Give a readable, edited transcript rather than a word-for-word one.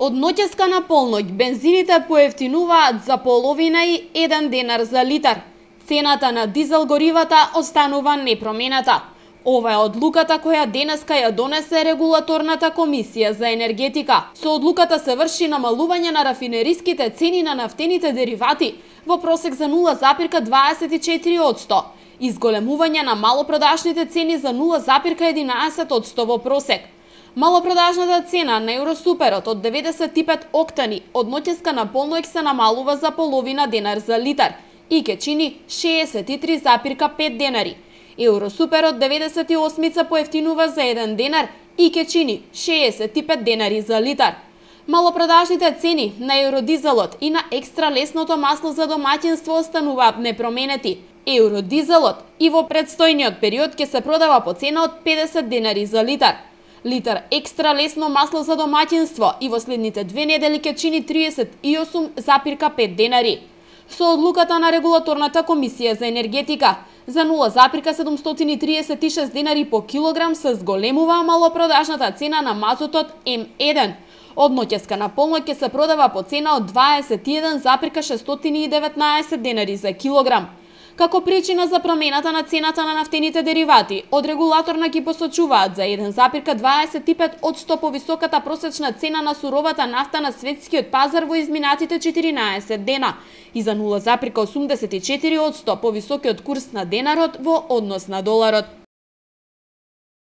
Од ноќеска на полноќ бензините поевтинуваат за половина и 1 денар за литар. Цената на дизел горивата останува непроменета. Ова е одлуката која денеска ја донесе регулаторната комисија за енергетика. Со одлуката се врши намалување на рафинериските цени на нафтените деривати во просек за 0,24%, изголемување на малопродажните цени за 0,11% во просек. Малопродажната цена на Евросуперот од 95 октани од ноќеска на полноќ се намалува за половина денар за литар и ќе чини 63,5 денари. Евросуперот 98 поевтинува за 1 денар и ќе чини 65 денари за литар. Малопродажните цени на евродизелот и на екстра лесното масло за домаќинство остануваат непроменети. Евродизелот и во предстојниот период ќе се продава по цена од 50 денари за литар. Литар екстра лесно масло за домаќинство и во следните 2 недели ќе чини 38,5 денари. Со одлуката на регулаторната комисија за енергетика за 0,736 денари по килограм се зголемува малопродажната цена на мазутот М1. Од ноќеска на полноќ ќе се продава по цена од 21,619 денари за килограм. Како причина за промената на цената на нафтените деривати, од регулаторна ги посочуваат за 1,25% повисоката просечна цена на суровата нафта на светскиот пазар во изминатите 14 дена и за 0,84% повисокиот курс на денарот во однос на доларот.